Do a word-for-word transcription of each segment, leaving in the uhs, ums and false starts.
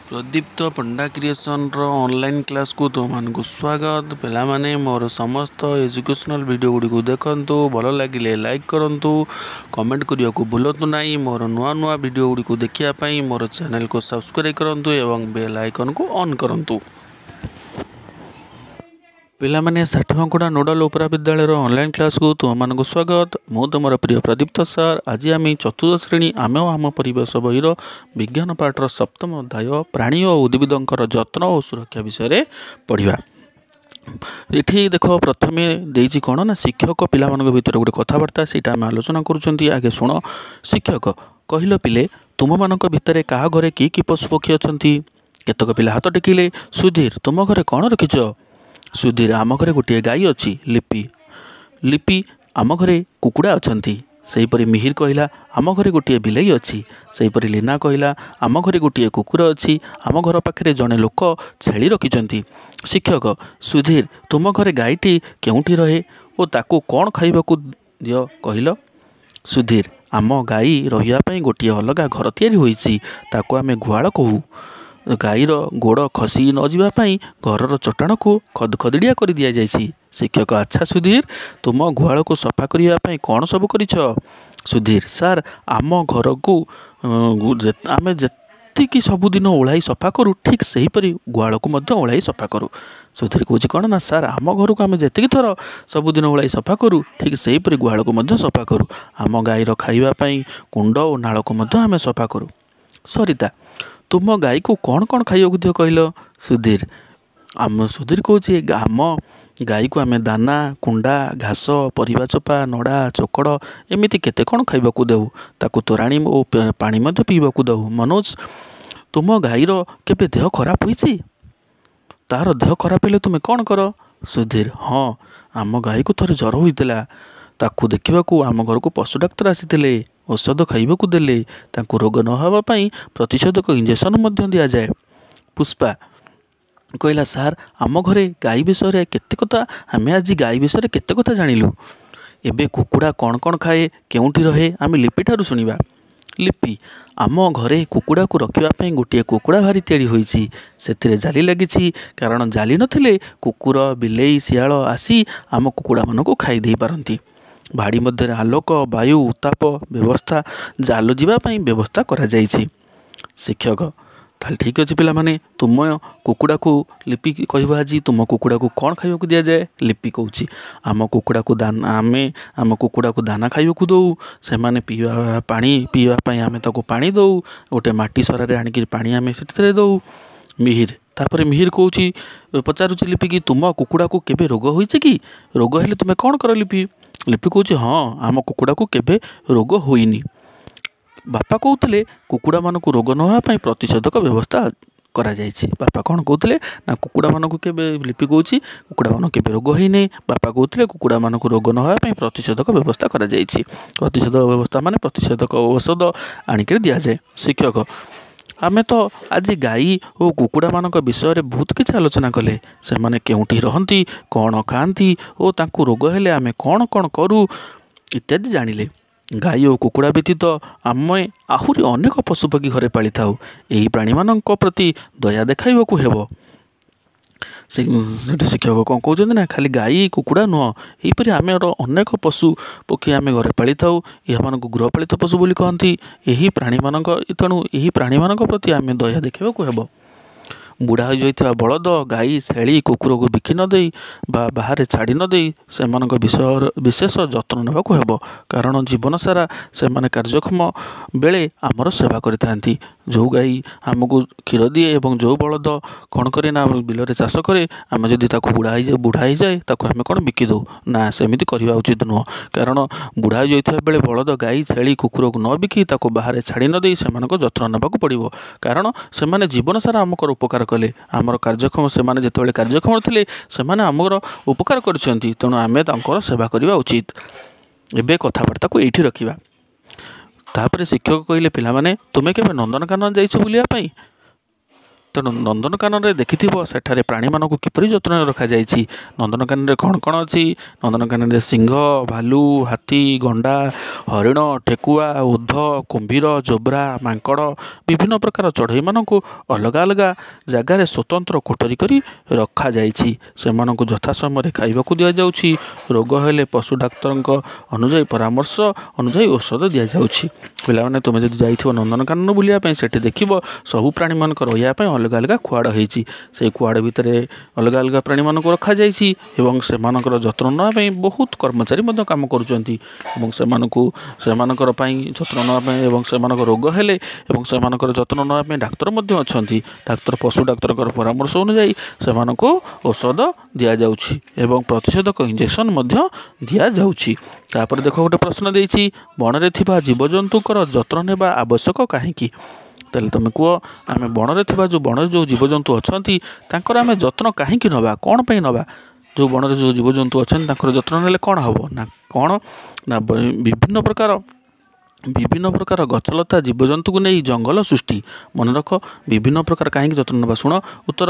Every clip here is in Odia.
ପ୍ରଦୀପ୍ତ ପଣ୍ଡା କ୍ରିଏସନ୍ର ଅନଲାଇନ୍ କ୍ଲାସ୍କୁ ତୁମମାନଙ୍କୁ ସ୍ୱାଗତ। ପିଲାମାନେ, ମୋର ସମସ୍ତ ଏଜୁକେସନାଲ୍ ଭିଡ଼ିଓ ଗୁଡ଼ିକୁ ଦେଖନ୍ତୁ। ଭଲ ଲାଗିଲେ ଲାଇକ୍ କରନ୍ତୁ, କମେଣ୍ଟ କରିବାକୁ ଭୁଲନ୍ତୁ ନାହିଁ। ମୋର ନୂଆ ନୂଆ ଭିଡ଼ିଓ ଗୁଡ଼ିକୁ ଦେଖିବା ପାଇଁ ମୋର ଚ୍ୟାନେଲକୁ ସବସ୍କ୍ରାଇବ୍ କରନ୍ତୁ ଏବଂ ବେଲ୍ ଆଇକନ୍କୁ ଅନ୍ କରନ୍ତୁ। ପିଲାମାନେ, ଷାଠିମାକୁଡ଼ା ନୋଡ଼ାଲ ଉପରା ବିଦ୍ୟାଳୟର ଅନଲାଇନ୍ କ୍ଲାସ୍କୁ ତୁମମାନଙ୍କୁ ସ୍ୱାଗତ। ମୁଁ ତୁମର ପ୍ରିୟ ପ୍ରଦୀପ୍ତ ସାର୍। ଆଜି ଆମେ ଚତୁର୍ଥ ଶ୍ରେଣୀ ଆମେ ଓ ଆମ ପରିବେଶ ବହିର ବିଜ୍ଞାନ ପାଠର ସପ୍ତମ ଅଧ୍ୟାୟ ପ୍ରାଣୀ ଓ ଉଦ୍ଭିଦଙ୍କର ଯତ୍ନ ଓ ସୁରକ୍ଷା ବିଷୟରେ ପଢ଼ିବା। ଏଠି ଦେଖ, ପ୍ରଥମେ ଦେଇଛି କ'ଣ ନା ଶିକ୍ଷକ ପିଲାମାନଙ୍କ ଭିତରେ ଗୋଟେ କଥାବାର୍ତ୍ତା, ସେଇଟା ଆମେ ଆଲୋଚନା କରୁଛନ୍ତି। ଆଗେ ଶୁଣ। ଶିକ୍ଷକ କହିଲ, ପିଲେ, ତୁମମାନଙ୍କ ଭିତରେ କାହା ଘରେ କି କି ପଶୁପକ୍ଷୀ ଅଛନ୍ତି? କେତେକ ପିଲା ହାତ ଟେକିଲେ। ସୁଧୀର, ତୁମ ଘରେ କ'ଣ ରଖିଛ? ସୁଧୀର, ଆମ ଘରେ ଗୋଟିଏ ଗାଈ ଅଛି। ଲିପି, ଲିପି, ଆମ ଘରେ କୁକୁଡ଼ା ଅଛନ୍ତି। ସେହିପରି ମିହିର କହିଲା, ଆମ ଘରେ ଗୋଟିଏ ବିଲେଇ ଅଛି। ସେହିପରି ଲୀନା କହିଲା, ଆମ ଘରେ ଗୋଟିଏ କୁକୁର ଅଛି। ଆମ ଘର ପାଖରେ ଜଣେ ଲୋକ ଛେଳି ରଖିଛନ୍ତି। ଶିକ୍ଷକ, ସୁଧୀର, ତୁମ ଘରେ ଗାଈଟି କେଉଁଠି ରହେ ଓ ତାକୁ କ'ଣ ଖାଇବାକୁ ଦିଅ କହିଲ? ସୁଧୀର, ଆମ ଗାଈ ରହିବା ପାଇଁ ଗୋଟିଏ ଅଲଗା ଘର ତିଆରି ହୋଇଛି, ତାକୁ ଆମେ ଗୁହାଳ କହୁ। ଗାଈର ଗୋଡ଼ ଖସି ନ ଯିବା ପାଇଁ ଘରର ଚଟାଣକୁ ଖଦଖଦଡ଼ିଆ କରି ଦିଆଯାଇଛି। ଶିକ୍ଷକ, ଆଚ୍ଛା ସୁଧୀର, ତୁମ ଗୁହାଳକୁ ସଫା କରିବା ପାଇଁ କ'ଣ ସବୁ କରିଛ? ସୁଧୀର, ସାର୍, ଆମ ଘରକୁ ଆମେ ଯେତିକି ସବୁଦିନ ଓଳାଇ ସଫା କରୁ, ଠିକ୍ ସେହିପରି ଗୁହାଳକୁ ମଧ୍ୟ ଓଳାଇ ସଫା କରୁ। ସୁଧୀର କହୁଛି କ'ଣ ନା ସାର୍, ଆମ ଘରକୁ ଆମେ ଯେତିକି ଥର ସବୁଦିନ ଓଳାଇ ସଫା କରୁ, ଠିକ୍ ସେହିପରି ଗୁହାଳକୁ ମଧ୍ୟ ସଫା କରୁ। ଆମ ଗାଈର ଖାଇବା ପାଇଁ କୁଣ୍ଡ ଓ ନାଳକୁ ମଧ୍ୟ ଆମେ ସଫା କରୁ। ସରିତା, ତୁମ ଗାଈକୁ କ'ଣ କ'ଣ ଖାଇବାକୁ ଦିଅ କହିଲ? ସୁଧୀର, ଆମ ସୁଧୀର କହୁଛି, ଆମ ଗାଈକୁ ଆମେ ଦାନା, କୁଣ୍ଡା, ଘାସ, ପରିବା ଚୋପା, ନଡ଼ା, ଚୋକଡ଼ ଏମିତି କେତେ କ'ଣ ଖାଇବାକୁ ଦେଉ। ତାକୁ ତୋରାଣି ଓ ପାଣି ମଧ୍ୟ ପିଇବାକୁ ଦେଉ। ମନୋଜ, ତୁମ ଗାଈର କେବେ ଦେହ ଖରାପ ହୋଇଛି? ତାର ଦେହ ଖରାପ ହେଲେ ତୁମେ କ'ଣ କର? ସୁଧୀର, ହଁ, ଆମ ଗାଈକୁ ଥରେ ଜ୍ୱର ହୋଇଥିଲା। ତାକୁ ଦେଖିବାକୁ ଆମ ଘରକୁ ପଶୁ ଡାକ୍ତର ଆସିଥିଲେ, ଔଷଧ ଖାଇବାକୁ ଦେଲେ। ତାଙ୍କୁ ରୋଗ ନ ହେବା ପାଇଁ ପ୍ରତିଷେଧକ ଇଞ୍ଜେକ୍ସନ୍ ମଧ୍ୟ ଦିଆଯାଏ। ପୁଷ୍ପା କହିଲା, ସାର୍, ଆମ ଘରେ ଗାଈ ବିଷୟରେ କେତେ କଥା, ଆମେ ଆଜି ଗାଈ ବିଷୟରେ କେତେ କଥା ଜାଣିଲୁ। ଏବେ କୁକୁଡ଼ା କ'ଣ କ'ଣ ଖାଏ, କେଉଁଠି ରହେ, ଆମେ ଲିପିଠାରୁ ଶୁଣିବା। ଲିପି, ଆମ ଘରେ କୁକୁଡ଼ାକୁ ରଖିବା ପାଇଁ ଗୋଟିଏ କୁକୁଡ଼ା ଭାରି ତିଆରି ହୋଇଛି। ସେଥିରେ ଜାଲି ଲାଗିଛି, କାରଣ ଜାଲି ନଥିଲେ କୁକୁର, ବିଲେଇ, ଶିଆଳ ଆସି ଆମ କୁକୁଡ଼ାମାନଙ୍କୁ ଖାଇ ଦେଇପାରନ୍ତି। ଭାଡ଼ି ମଧ୍ୟରେ ଆଲୋକ, ବାୟୁ, ଉତ୍ତାପ ବ୍ୟବସ୍ଥା, ଜାଲ ଯିବା ପାଇଁ ବ୍ୟବସ୍ଥା କରାଯାଇଛି। ଶିକ୍ଷକ, ତାହେଲେ ଠିକ୍ ଅଛି ପିଲାମାନେ, ତୁମ କୁକୁଡ଼ାକୁ, ଲିପି କହିବ, ଆଜି ତୁମ କୁକୁଡ଼ାକୁ କ'ଣ ଖାଇବାକୁ ଦିଆଯାଏ? ଲିପି କହୁଛି, ଆମ କୁକୁଡ଼ାକୁ ଦାନା, ଆମେ ଆମ କୁକୁଡ଼ାକୁ ଦାନା ଖାଇବାକୁ ଦେଉ। ସେମାନେ ପିଇବା ପାଣି, ପିଇବା ପାଇଁ ଆମେ ତାକୁ ପାଣି ଦେଉ। ଗୋଟେ ମାଟି ସରାରେ ଆଣିକିରି ପାଣି ଆମେ ସେଥିରେ ଦେଉ। ମିହିର, ତାପରେ ମିହିର କହୁଛି, ପଚାରୁଛି ଲିପିକି, ତୁମ କୁକୁଡ଼ାକୁ କେବେ ରୋଗ ହୋଇଛି କି? ରୋଗ ହେଲେ ତୁମେ କ'ଣ କର ଲିପି? ଲିପି କହୁଛି, ହଁ, ଆମ କୁକୁଡ଼ାକୁ କେବେ ରୋଗ ହୋଇନି। ବାପା କହୁଥିଲେ କୁକୁଡ଼ାମାନଙ୍କୁ ରୋଗ ନ ହେବା ପାଇଁ ପ୍ରତିଷେଧକ ବ୍ୟବସ୍ଥା କରାଯାଇଛି। ବାପା କ'ଣ କହୁଥିଲେ ନା କୁକୁଡ଼ାମାନଙ୍କୁ କେବେ, ଲିପି କହୁଛି, କୁକୁଡ଼ାମାନଙ୍କୁ କେବେ ରୋଗ ହେଇନି। ବାପା କହୁଥିଲେ କୁକୁଡ଼ାମାନଙ୍କୁ ରୋଗ ନ ହେବା ପାଇଁ ପ୍ରତିଷେଧକ ବ୍ୟବସ୍ଥା କରାଯାଇଛି। ପ୍ରତିଷେଧକ ବ୍ୟବସ୍ଥା ମାନେ ପ୍ରତିଷେଧକ ଔଷଧ ଆଣିକରି ଦିଆଯାଏ। ଶିକ୍ଷକ, ଆମେ ତ ଆଜି ଗାଈ ଓ କୁକୁଡ଼ାମାନଙ୍କ ବିଷୟରେ ବହୁତ କିଛି ଆଲୋଚନା କଲେ। ସେମାନେ କେଉଁଠି ରହନ୍ତି, କ'ଣ ଖାଆନ୍ତି ଓ ତାଙ୍କୁ ରୋଗ ହେଲେ ଆମେ କ'ଣ କ'ଣ କରୁ ଇତ୍ୟାଦି ଜାଣିଲେ। ଗାଈ ଓ କୁକୁଡ଼ା ବ୍ୟତୀତ ଆମେ ଆହୁରି ଅନେକ ପଶୁପକ୍ଷୀ ଘରେ ପାଳିଥାଉ। ଏହି ପ୍ରାଣୀମାନଙ୍କ ପ୍ରତି ଦୟା ଦେଖାଇବାକୁ ହେବ। ସେଠି ଶିକ୍ଷକ କ'ଣ କହୁଛନ୍ତି ନା ଖାଲି ଗାଈ କୁକୁଡ଼ା ନୁହଁ, ଏହିପରି ଆମର ଅନେକ ପଶୁ ପକ୍ଷୀ ଆମେ ଘରେ ପାଳିଥାଉ। ଏମାନଙ୍କୁ ଗୃହପାଳିତ ପଶୁ ବୋଲି କହନ୍ତି। ଏହି ପ୍ରାଣୀମାନଙ୍କ, ତେଣୁ ଏହି ପ୍ରାଣୀମାନଙ୍କ ପ୍ରତି ଆମେ ଦୟା ଦେଖାଇବାକୁ ହେବ। ବୁଢ଼ା ହୋଇଯାଇଥିବା ବଳଦ, ଗାଈ, ଛେଳି, କୁକୁରକୁ ବିକି ନ ଦେଇ ବା ବାହାରେ ଛାଡ଼ି ନ ଦେଇ ସେମାନଙ୍କ ବିଷୟର ବିଶେଷ ଯତ୍ନ ନେବାକୁ ହେବ, କାରଣ ଜୀବନ ସାରା ସେମାନେ କାର୍ଯ୍ୟକ୍ଷମ ବେଳେ ଆମର ସେବା କରିଥାନ୍ତି। ଯେଉଁ ଗାଈ ଆମକୁ କ୍ଷୀର ଦିଏ ଏବଂ ଯେଉଁ ବଳଦ କ'ଣ କରେ ନା ବିଲରେ ଚାଷ କରେ, ଆମେ ଯଦି ତାକୁ ବୁଢ଼ା ହେଇଯାଏ, ବୁଢ଼ା ହେଇଯାଏ ତାକୁ ଆମେ କ'ଣ ବିକି ଦେଉ ନା, ସେମିତି କରିବା ଉଚିତ ନୁହଁ। କାରଣ ବୁଢ଼ା ହୋଇଯାଇଥିବା ବେଳେ ବଳଦ, ଗାଈ, ଛେଳି, କୁକୁରକୁ ନ ବିକି, ତାକୁ ବାହାରେ ଛାଡ଼ି ନ ଦେଇ ସେମାନଙ୍କ ଯତ୍ନ ନେବାକୁ ପଡ଼ିବ, କାରଣ ସେମାନେ ଜୀବନ ସାରା ଆମଙ୍କର ଉପକାର କଲେ। ଆମର କାର୍ଯ୍ୟକ୍ଷମ, ସେମାନେ ଯେତେବେଳେ କାର୍ଯ୍ୟକ୍ଷମ ଥିଲେ ସେମାନେ ଆମର ଉପକାର କରିଛନ୍ତି, ତେଣୁ ଆମେ ତାଙ୍କର ସେବା କରିବା ଉଚିତ। ଏବେ କଥାବାର୍ତ୍ତାକୁ ଏଇଠି ରଖିବା। ତାପରେ ଶିକ୍ଷକ କହିଲେ, ପିଲାମାନେ, ତୁମେ କେବେ ନନ୍ଦନକାନନ ଯାଇଛ ବୁଲିବା ପାଇଁ? ତେଣୁ ନନ୍ଦନକାନନରେ ଦେଖିଥିବ ସେଠାରେ ପ୍ରାଣୀମାନଙ୍କୁ କିପରି ଯତ୍ନରେ ରଖାଯାଇଛି। ନନ୍ଦନକାନନରେ କ'ଣ କ'ଣ ଅଛି? ନନ୍ଦନକାନନରେ ସିଂହ, ଭାଲୁ, ହାତୀ, ଗଣ୍ଡା, ହରିଣ, ଠେକୁଆ, ଓଧ, କୁମ୍ଭୀର, ଜୋବ୍ରା, ମାଙ୍କଡ଼, ବିଭିନ୍ନ ପ୍ରକାର ଚଢ଼େଇମାନଙ୍କୁ ଅଲଗା ଅଲଗା ଜାଗାରେ ସ୍ୱତନ୍ତ୍ର କୋଠରୀ କରି ରଖାଯାଇଛି। ସେମାନଙ୍କୁ ଯଥା ସମୟରେ ଖାଇବାକୁ ଦିଆଯାଉଛି। ରୋଗ ହେଲେ ପଶୁ ଡାକ୍ତରଙ୍କ ଅନୁଯାୟୀ ପରାମର୍ଶ ଅନୁଯାୟୀ ଔଷଧ ଦିଆଯାଉଛି। ପିଲାମାନେ, ତୁମେ ଯଦି ଯାଇଥିବ ନନ୍ଦନକାନନ ବୁଲିବା ପାଇଁ, ସେଠି ଦେଖିବ ସବୁ ପ୍ରାଣୀମାନଙ୍କ ରହିବା ପାଇଁ ଅଲଗା ଅଲଗା ଖୁଆଡ଼ ହେଇଛି। ସେଇ ଖୁଆଡ଼ ଭିତରେ ଅଲଗା ଅଲଗା ପ୍ରାଣୀମାନଙ୍କୁ ରଖାଯାଇଛି ଏବଂ ସେମାନଙ୍କର ଯତ୍ନ ନେବା ପାଇଁ ବହୁତ କର୍ମଚାରୀ ମଧ୍ୟ କାମ କରୁଛନ୍ତି ଏବଂ ସେମାନଙ୍କୁ ସେମାନଙ୍କର ପାଇଁ ଯତ୍ନ ନେବା ପାଇଁ ଏବଂ ସେମାନଙ୍କ ରୋଗ ହେଲେ ଏବଂ ସେମାନଙ୍କର ଯତ୍ନ ନେବା ପାଇଁ ଡାକ୍ତର ମଧ୍ୟ ଅଛନ୍ତି। ଡାକ୍ତର ପଶୁ ଡାକ୍ତରଙ୍କର ପରାମର୍ଶ ଅନୁଯାୟୀ ସେମାନଙ୍କୁ ଔଷଧ ଦିଆଯାଉଛି ଏବଂ ପ୍ରତିଷେଧକ ଇଞ୍ଜେକ୍ସନ୍ ମଧ୍ୟ ଦିଆଯାଉଛି। ତାପରେ ଦେଖ ଗୋଟେ ପ୍ରଶ୍ନ ଦେଇଛି, ବଣରେ ଥିବା ଜୀବଜନ୍ତୁଙ୍କର ଯତ୍ନ ନେବା ଆବଶ୍ୟକ କାହିଁକି? ତାହେଲେ ତୁମେ କୁହ, ଆମେ ବଣରେ ଥିବା ଯେଉଁ ବଣରେ ଯେଉଁ ଜୀବଜନ୍ତୁ ଅଛନ୍ତି ତାଙ୍କର ଆମେ ଯତ୍ନ କାହିଁକି ନେବା, କ'ଣ ପାଇଁ ନେବା? ଯେଉଁ ବଣରେ ଯେଉଁ ଜୀବଜନ୍ତୁ ଅଛନ୍ତି ତାଙ୍କର ଯତ୍ନ ନେଲେ କ'ଣ ହେବ ନା କ'ଣ ନା ବିଭିନ୍ନ ପ୍ରକାର ବିଭିନ୍ନ ପ୍ରକାର ଗଛଲତା ଜୀବଜନ୍ତୁକୁ ନେଇ ଜଙ୍ଗଲ ସୃଷ୍ଟି। ମନେ ରଖ, ବିଭିନ୍ନ ପ୍ରକାର କାହିଁକି ଯତ୍ନ ନେବା, ଶୁଣ ଉତ୍ତର,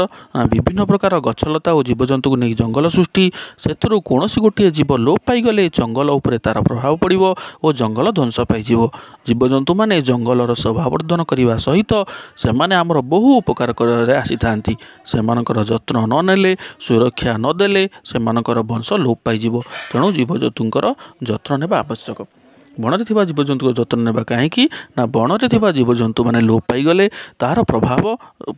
ବିଭିନ୍ନ ପ୍ରକାର ଗଛଲତା ଓ ଜୀବଜନ୍ତୁକୁ ନେଇ ଜଙ୍ଗଲ ସୃଷ୍ଟି। ସେଥିରୁ କୌଣସି ଗୋଟିଏ ଜୀବ ଲୋପ ପାଇଗଲେ ଜଙ୍ଗଲ ଉପରେ ତା'ର ପ୍ରଭାବ ପଡ଼ିବ ଓ ଜଙ୍ଗଲ ଧ୍ୱଂସ ପାଇଯିବ। ଜୀବଜନ୍ତୁମାନେ ଜଙ୍ଗଲର ଶୋଭାବର୍ଦ୍ଧନ କରିବା ସହିତ ସେମାନେ ଆମର ବହୁ ଉପକାର କରିବାରେ ଆସିଥାନ୍ତି। ସେମାନଙ୍କର ଯତ୍ନ ନ ନେଲେ, ସୁରକ୍ଷା ନ ଦେଲେ ସେମାନଙ୍କର ବଂଶ ଲୋପ ପାଇଯିବ। ତେଣୁ ଜୀବଜନ୍ତୁଙ୍କର ଯତ୍ନ ନେବା ଆବଶ୍ୟକ। ବଣରେ ଥିବା ଜୀବଜନ୍ତୁଙ୍କ ଯତ୍ନ ନେବା କାହିଁକି ନା ବଣରେ ଥିବା ଜୀବଜନ୍ତୁମାନେ ଲୋପ ପାଇଗଲେ ତାହାର ପ୍ରଭାବ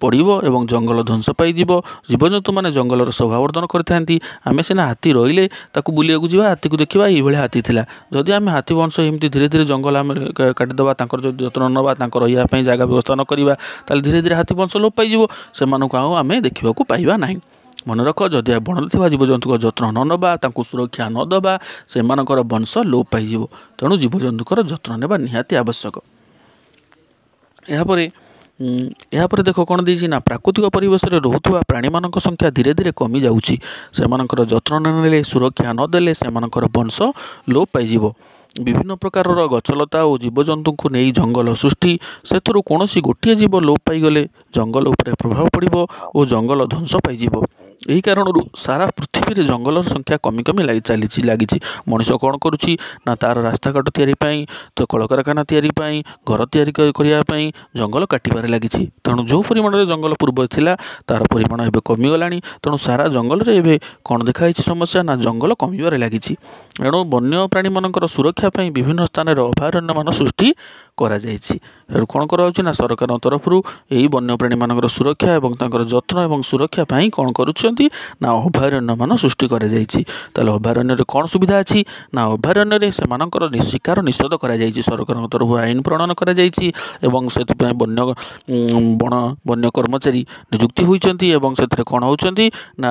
ପଡ଼ିବ ଏବଂ ଜଙ୍ଗଲ ଧ୍ୱଂସ ପାଇଯିବ। ଜୀବଜନ୍ତୁମାନେ ଜଙ୍ଗଲର ଶୋଭାବର୍ଦ୍ଧନ କରିଥାନ୍ତି। ଆମେ ସିନା ହାତୀ ରହିଲେ ତାକୁ ବୁଲିବାକୁ ଯିବା, ହାତୀକୁ ଦେଖିବା ଏଇଭଳିଆ ହାତୀ ଥିଲା। ଯଦି ଆମେ ହାତୀ ବଂଶ ଏମିତି ଧୀରେ ଧୀରେ ଜଙ୍ଗଲ ଆମେ କାଟିଦେବା, ତାଙ୍କର ଯଦି ଯତ୍ନ ନେବା, ତାଙ୍କ ରହିବା ପାଇଁ ଜାଗା ବ୍ୟବସ୍ଥା ନ କରିବା, ତାହେଲେ ଧୀରେ ଧୀରେ ହାତୀ ବଂଶ ଲୋପ ପାଇଯିବ, ସେମାନଙ୍କୁ ଆଉ ଆମେ ଦେଖିବାକୁ ପାଇବା ନାହିଁ। ମନେ ରଖ, ଯଦି ବଣରେ ଥିବା ଜୀବଜନ୍ତୁଙ୍କ ଯତ୍ନ ନ ନେବା, ତାଙ୍କୁ ସୁରକ୍ଷା ନ ଦେବା, ସେମାନଙ୍କର ବଂଶ ଲୋପ ପାଇଯିବ। ତେଣୁ ଜୀବଜନ୍ତୁଙ୍କର ଯତ୍ନ ନେବା ନିହାତି ଆବଶ୍ୟକ। ଏହାପରେ ଏହାପରେ ଦେଖ କ'ଣ ଦେଇଛି ନା ପ୍ରାକୃତିକ ପରିବେଶରେ ରହୁଥିବା ପ୍ରାଣୀମାନଙ୍କ ସଂଖ୍ୟା ଧୀରେ ଧୀରେ କମିଯାଉଛି। ସେମାନଙ୍କର ଯତ୍ନ ନ ନେଲେ, ସୁରକ୍ଷା ନ ଦେଲେ ସେମାନଙ୍କର ବଂଶ ଲୋପ ପାଇଯିବ। ବିଭିନ୍ନ ପ୍ରକାରର ଗଛଲତା ଓ ଜୀବଜନ୍ତୁଙ୍କୁ ନେଇ ଜଙ୍ଗଲ ସୃଷ୍ଟି। ସେଥିରୁ କୌଣସି ଗୋଟିଏ ଜୀବ ଲୋପ ପାଇଗଲେ ଜଙ୍ଗଲ ଉପରେ ପ୍ରଭାବ ପଡ଼ିବ ଓ ଜଙ୍ଗଲ ଧ୍ୱଂସ ପାଇଯିବ। ଏହି କାରଣରୁ ସାରା ପୃଥିବୀରେ ଜଙ୍ଗଲର ସଂଖ୍ୟା କମି କମି ଲାଗି ଚାଲିଛି ଲାଗିଛି। ମଣିଷ କ'ଣ କରୁଛି ନା ତା'ର ରାସ୍ତାଘାଟ ତିଆରି ପାଇଁ, ତ କଳକାରଖାନା ତିଆରି ପାଇଁ, ଘର ତିଆରି କରିବା ପାଇଁ ଜଙ୍ଗଲ କାଟିବାରେ ଲାଗିଛି। ତେଣୁ ଯେଉଁ ପରିମାଣରେ ଜଙ୍ଗଲ ପୂର୍ବରେ ଥିଲା ତା'ର ପରିମାଣ ଏବେ କମିଗଲାଣି। ତେଣୁ ସାରା ଜଙ୍ଗଲରେ ଏବେ କ'ଣ ଦେଖାଯାଇଛି ସମସ୍ୟା ନା ଜଙ୍ଗଲ କମିବାରେ ଲାଗିଛି। ଏଣୁ ବନ୍ୟ ପ୍ରାଣୀମାନଙ୍କର ସୁରକ୍ଷା ପାଇଁ ବିଭିନ୍ନ ସ୍ଥାନରେ ଅଭୟାରଣ୍ୟମାନ ସୃଷ୍ଟି କରାଯାଇଛି। ଏଣୁ କ'ଣ କରାଯାଉଛି ନା ସରକାରଙ୍କ ତରଫରୁ ଏହି ବନ୍ୟପ୍ରାଣୀମାନଙ୍କର ସୁରକ୍ଷା ଏବଂ ତାଙ୍କର ଯତ୍ନ ଏବଂ ସୁରକ୍ଷା ପାଇଁ କ'ଣ କରୁଛନ୍ତି ନା ଅଭୟାରଣ୍ୟମାନ ସୃଷ୍ଟି କରାଯାଇଛି। ତାହେଲେ ଅଭୟାରଣ୍ୟରେ କ'ଣ ସୁବିଧା ଅଛି ନା ଅଭୟାରଣ୍ୟରେ ସେମାନଙ୍କର ଶିକାର ନିଷେଧ କରାଯାଇଛି, ସରକାରଙ୍କ ତରଫରୁ ଆଇନ ପ୍ରଣୟନ କରାଯାଇଛି ଏବଂ ସେଥିପାଇଁ ବନ୍ୟ ବଣ ବନ୍ୟ କର୍ମଚାରୀ ନିଯୁକ୍ତି ହୋଇଛନ୍ତି ଏବଂ ସେଥିରେ କ'ଣ ହେଉଛନ୍ତି ନା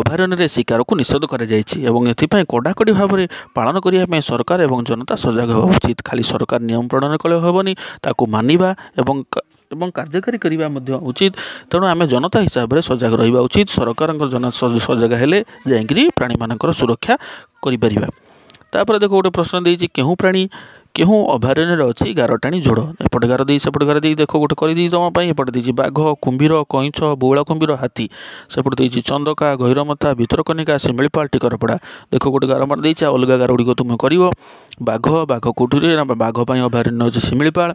ଅଭୟାରଣ୍ୟରେ ଶିକାରକୁ ନିଷେଧ କରାଯାଇଛି ଏବଂ ଏଥିପାଇଁ କଡ଼ାକଡ଼ି ଭାବରେ ପାଳନ କରିବା ପାଇଁ ସରକାର ଏବଂ ଜନତା ସଜାଗ ହେବା ଉଚିତ। ଖାଲି ସରକାର ନିୟମ ପ୍ରଣୟନ କଲେ ହେବନି, ତାକୁ ମାନିବା ଏବଂ ଏବଂ କାର୍ଯ୍ୟକାରୀ କରିବା ମଧ୍ୟ ଉଚିତ। ତେଣୁ ଆମେ ଜନତା ହିସାବରେ ସଜାଗ ରହିବା ଉଚିତ। ସରକାରଙ୍କ ଜନ ସଜାଗ ହେଲେ ଯାଇକରି ପ୍ରାଣୀମାନଙ୍କର ସୁରକ୍ଷା କରିପାରିବା। ତାପରେ ଦେଖ ଗୋଟେ ପ୍ରଶ୍ନ ଦେଇଛି, କେଉଁ ପ୍ରାଣୀ କେଉଁ ଅଭୟାରଣ୍ୟରେ ଅଛି ଗାର ଟାଣି ଯୋଡ଼। ଏପଟେ ଗାର ଦେଇ ସେପଟେ ଗାର ଦେଇ ଦେଖ ଗୋଟେ କରିଦେଇଛି ତୁମ ପାଇଁ। ଏପଟେ ଦେଇଛି ବାଘ, କୁମ୍ଭୀର, କଇଁଛ, ବଉଳା କୁମ୍ଭୀର, ହାତୀ। ସେପଟେ ଦେଇଛି ଚନ୍ଦକା, ଗହିରମଥା, ଭିତରକନିକା, ଶିମିଳିପାଳ, ଟିକରପଡ଼ା। ଦେଖ ଗୋଟେ ଗାର ମାରି ଦେଇଛି, ଆଉ ଅଲଗା ଗାର ଗୁଡ଼ିକ ତୁମେ କରିବ। ବାଘ, ବାଘ କେଉଁଠି ରୁହେ ନା ବାଘ ପାଇଁ ଅଭୟାରଣ୍ୟ ଅଛି ଶିମିଳିପାଳ।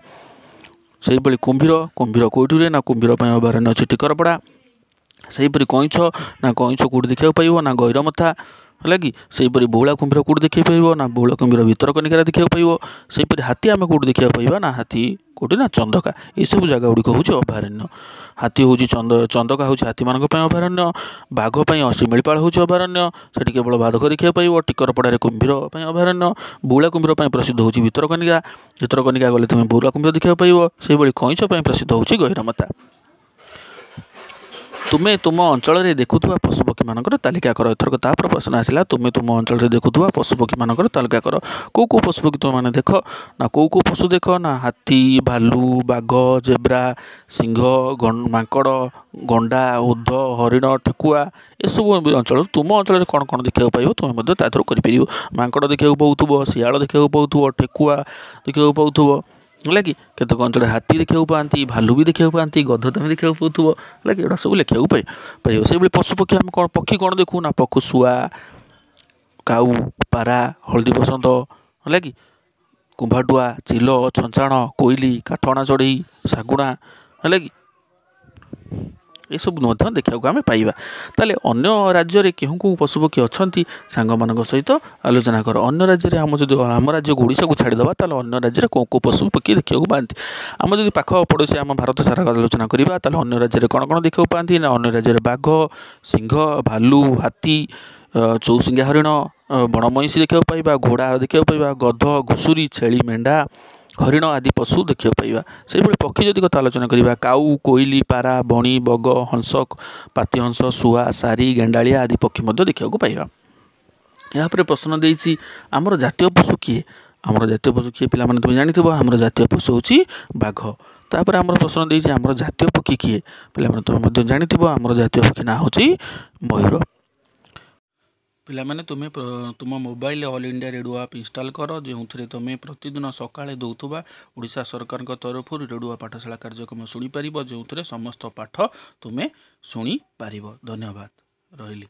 ସେହିଭଳି କୁମ୍ଭୀର, କୁମ୍ଭୀର କେଉଁଠି ରୁହେ ନା କୁମ୍ଭୀର ପାଇଁ ଅଭୟାରଣ୍ୟ ଅଛି ଟିକରପଡ଼ା। ସେହିପରି କଇଁଛ ନା କଇଁଛ କେଉଁଠି ଦେଖିବାକୁ ପାଇବ ନା ଗହିରମଥା, ହେଲା କି। ସେହିପରି ବଉଳା କୁମ୍ଭୀର କେଉଁଠି ଦେଖିବାକୁ ପାଇବ ନା ବଉଳା କୁମ୍ଭୀର ଭିତରକନିକାରେ ଦେଖିବାକୁ ପାଇବ। ସେହିପରି ହାତୀ ଆମେ କେଉଁଠି ଦେଖିବାକୁ ପାଇବା ନା ହାତୀ କେଉଁଠି ନା ଚନ୍ଦକା। ଏସବୁ ଜାଗା ଗୁଡ଼ିକ ହେଉଛି ଅଭୟାରଣ୍ୟ। ହାତୀ ହେଉଛି ଚନ୍ଦ ଚନ୍ଦକା ହେଉଛି ହାତୀମାନଙ୍କ ପାଇଁ ଅଭୟାରଣ୍ୟ। ବାଘ ପାଇଁ ଶିମିଳିପାଳ ହେଉଛି ଅଭୟାରଣ୍ୟ, ସେଠି କେବଳ ବାଘ ଦେଖିବାକୁ ପାଇବ। ଟିକରପଡ଼ାରେ କୁମ୍ଭୀର ପାଇଁ ଅଭୟାରଣ୍ୟ। ବଉଳା କୁମ୍ଭୀର ପାଇଁ ପ୍ରସିଦ୍ଧ ହେଉଛି ଭିତରକନିକା, ଭିତରକନିକା ଗଲେ ତୁମେ ବଉଳା କୁମ୍ଭୀର ଦେଖିବାକୁ ପାଇବ। ସେହିଭଳି କଇଁଛ ପାଇଁ ପ୍ରସିଦ୍ଧ ହେଉଛି ଗହିରମଥା। ତୁମେ ତୁମ ଅଞ୍ଚଳରେ ଦେଖୁଥିବା ପଶୁପକ୍ଷୀମାନଙ୍କର ତାଲିକା କର। ଏଥରକ ତାପରେ ପ୍ରଶ୍ନ ଆସିଲା, ତୁମେ ତୁମ ଅଞ୍ଚଳରେ ଦେଖୁଥିବା ପଶୁପକ୍ଷୀମାନଙ୍କର ତାଲିକା କର। କେଉଁ କେଉଁ ପଶୁପକ୍ଷୀ ତୁମେମାନେ ଦେଖ ନା କେଉଁ କେଉଁ ପଶୁ ଦେଖ ନା ହାତୀ, ଭାଲୁ, ବାଘ, ଜେବ୍ରା, ସିଂହ, ମାଙ୍କଡ଼, ଗଣ୍ଡା, ଓଧ, ହରିଣ, ଠେକୁଆ, ଏସବୁ ଅଞ୍ଚଳରୁ ତୁମ ଅଞ୍ଚଳରେ କ'ଣ କ'ଣ ଦେଖିବାକୁ ପାଇବ ତୁମେ ମଧ୍ୟ ତା ଦେହରୁ କରିପାରିବ। ମାଙ୍କଡ଼ ଦେଖିବାକୁ ପାଉଥିବ, ଶିଆଳ ଦେଖିବାକୁ ପାଉଥିବ, ଠେକୁଆ ଦେଖିବାକୁ ପାଉଥିବ, ହେଲା କି? କେତେକ ଅଞ୍ଚଳରେ ହାତୀ ଦେଖିବାକୁ ପାଆନ୍ତି, ଭାଲୁ ବି ଦେଖିବାକୁ ପାଆନ୍ତି, ଗଧ ତମେ ଦେଖିବାକୁ ପାଉଥିବ। ହେଲା କି? ଏଗୁଡ଼ା ସବୁ ଲେଖିବାକୁ ପାଇ ପାଇବ। ସେଇଭଳି ପଶୁପକ୍ଷୀ ଆମେ କ'ଣ, ପକ୍ଷୀ କ'ଣ ଦେଖୁ ନା, ପକ୍ଷୀ ଶୁଆ, କାଉ, ପାରା, ହଳଦୀ ବସନ୍ତ, ହେଲା କି, କୁମ୍ଭାଟୁଆ, ଚିଲ, ଛଞ୍ଚାଣ, କୋଇଲି, କାଠଅଣା ଚଢ଼େଇ, ଶାଗୁଣା, ହେଲା କି, ଏସବୁ ମଧ୍ୟ ଦେଖିବାକୁ ଆମେ ପାଇବା। ତାହେଲେ ଅନ୍ୟ ରାଜ୍ୟରେ କେଉଁ କେଉଁ ପଶୁପକ୍ଷୀ ଅଛନ୍ତି ସାଙ୍ଗମାନଙ୍କ ସହିତ ଆଲୋଚନା କର। ଅନ୍ୟ ରାଜ୍ୟରେ, ଆମ ଯଦି ଆମ ରାଜ୍ୟକୁ ଓଡ଼ିଶାକୁ ଛାଡ଼ିଦେବା, ତାହେଲେ ଅନ୍ୟ ରାଜ୍ୟରେ କେଉଁ କେଉଁ ପଶୁପକ୍ଷୀ ଦେଖିବାକୁ ପାଆନ୍ତି? ଆମ ଯଦି ପାଖ ପଡ଼ୋଶୀ ଆମ ଭାରତ ସାରା ଆଲୋଚନା କରିବା, ତାହେଲେ ଅନ୍ୟ ରାଜ୍ୟରେ କ'ଣ କ'ଣ ଦେଖିବାକୁ ପାଆନ୍ତି ନା, ଅନ୍ୟ ରାଜ୍ୟରେ ବାଘ, ସିଂହ, ଭାଲୁ, ହାତୀ, ଚଉସିଙ୍ଗା ହରିଣ, ବଣ ମଇଁଷି ଦେଖିବାକୁ ପାଇବା, ଘୋଡ଼ା ଦେଖିବାକୁ ପାଇବା, ଗଧ, ଘୁଷୁରୀ, ଛେଳି, ମେଣ୍ଢା, ହରିଣ ଆଦି ପଶୁ ଦେଖିବାକୁ ପାଇବା। ସେହିଭଳି ପକ୍ଷୀ ଯଦି କଥା ଆଲୋଚନା କରିବା, କାଉ, କୋଇଲି, ପାରା, ବଣି, ବଗ, ହଂସ, ପାତିହଂସ, ଶୁଆ, ଶାରୀ, ଗେଣ୍ଡାଳିଆ ଆଦି ପକ୍ଷୀ ମଧ୍ୟ ଦେଖିବାକୁ ପାଇବା। ଏହାପରେ ପ୍ରଶ୍ନ ଦେଇଛି, ଆମର ଜାତୀୟ ପଶୁ କିଏ? ଆମର ଜାତୀୟ ପଶୁ କିଏ ପିଲାମାନେ ତୁମେ ଜାଣିଥିବ, ଆମର ଜାତୀୟ ପଶୁ ହେଉଛି ବାଘ। ତାପରେ ଆମର ପ୍ରଶ୍ନ ଦେଇଛି, ଆମର ଜାତୀୟ ପକ୍ଷୀ କିଏ? ପିଲାମାନେ ତୁମେ ମଧ୍ୟ ଜାଣିଥିବ, ଆମର ଜାତୀୟ ପକ୍ଷୀ ନାଁ ହେଉଛି ମୟୂର। ପିଲାମାନେ ତୁମେ ତୁମ mobile all India radio app install କର, ଯେଉଁଥିରେ ତୁମେ ପ୍ରତିଦିନ ସକାଳେ ଦେଉଥିବା ଓଡ଼ିଶା ସରକାରଙ୍କ ତରଫରୁ ରେଡ଼ିଓ ପାଠଶାଳା କାର୍ଯ୍ୟକ୍ରମ ଶୁଣିପାରିବ, ଯେଉଁଥିରେ ସମସ୍ତ ପାଠ ତୁମେ ଶୁଣିପାରିବ। ଧନ୍ୟବାଦ, ରହିଲି।